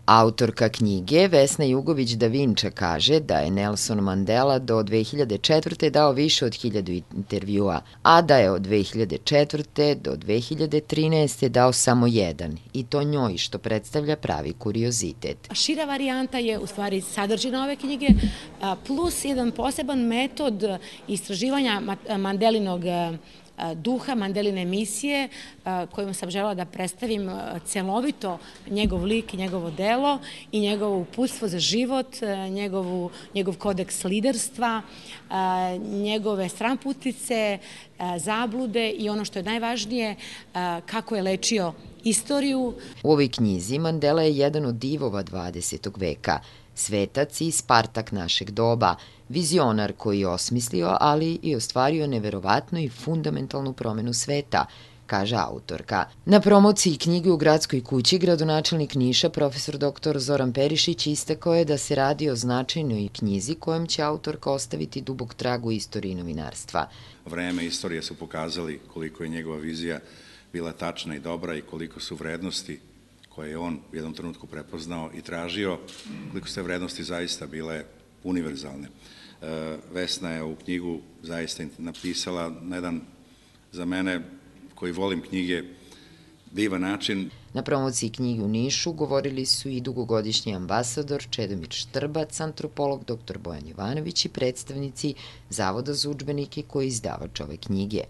Autorka knjige Vesna Jugović-Da Vinča kaže da je Nelson Mandela do 2004. dao više od 1000 intervjua, a da je od 2004. do 2013. dao samo jedan, i to njoj, što predstavlja pravi kuriozitet. Šira varijanta je u stvari sadržina ove knjige, plus jedan poseban metod istraživanja Mandelinog duha, Mandeline misije, kojom sam želela da predstavim celovito njegov lik i njegovo delo i njegovo uputstvo za život, njegov kodeks liderstva, njegove stranputice, zablude i ono što je najvažnije, kako je lečio istoriju. U ovoj knjizi Mandela je jedan od divova 20. veka, svetac i Spartak našeg doba, vizionar koji je osmislio, ali i ostvario neverovatnu i fundamentalnu promenu sveta, kaže autorka. Na promociji knjige u Gradskoj kući gradonačelnik Niša, profesor dr. Zoran Perišić, istakao je da se radi o značajnoj knjizi kojom će autorka ostaviti dubok trag u istoriji novinarstva. Vreme i istorije su pokazali koliko je njegova vizija bila tačna i dobra i koliko su vrednosti koje je on u jednom trenutku prepoznao i tražio, koliko su te vrednosti zaista bile univerzalne. Vesna je ovu knjigu zaista napisala na jedan, za mene koji volim knjige, divan način. Na promociji knjige u Nišu govorili su i dugogodišnji ambasador Čedomir Štrbac, antropolog dr. Bojan Jovanović i predstavnici Zavoda za udžbenike koji je izdavač ove knjige.